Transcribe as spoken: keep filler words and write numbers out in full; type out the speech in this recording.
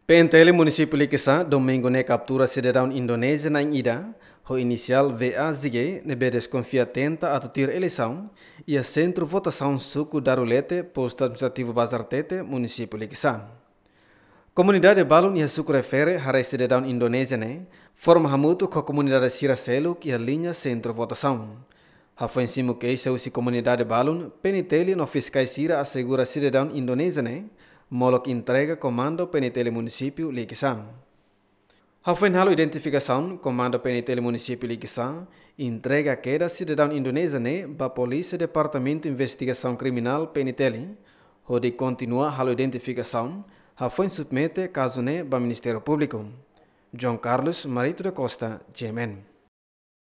P N T L Munisípiu Likisá domingu ne'e kaptura sidadaun Indonézia na'in ida, ho inisiál V A Z G, ne'ebé deskonfia tenta atu tuir eleisaun iha sentru votasaun suku Darulete, postu administrativu Bazartete, Munisípiu Likisá. Komunidade balun iha suku refere haree sidadaun Indonézia ne'e forma hamutuk ho komunidade sira seluk iha liña sentru votasaun. Hafoin simu keixa husi komunidade balun, P N T L no fiskais sira asegura sidadaun Indonézia ne'e molok entrega Komandu P N T L Munisípiu Likisá. Hafoin halo identifikasaun, Komandu P N T L Munisípiu Likisá entrega kedas sidadaun Indonézia ne'e ba Polísia Departamentu Investigasaun Kriminál, P N T L, hodi kontinua halo identifikasaun, hafoin submete kazu ne'e ba Ministériu Públiku. João Carlos Marito da Costa, G M N.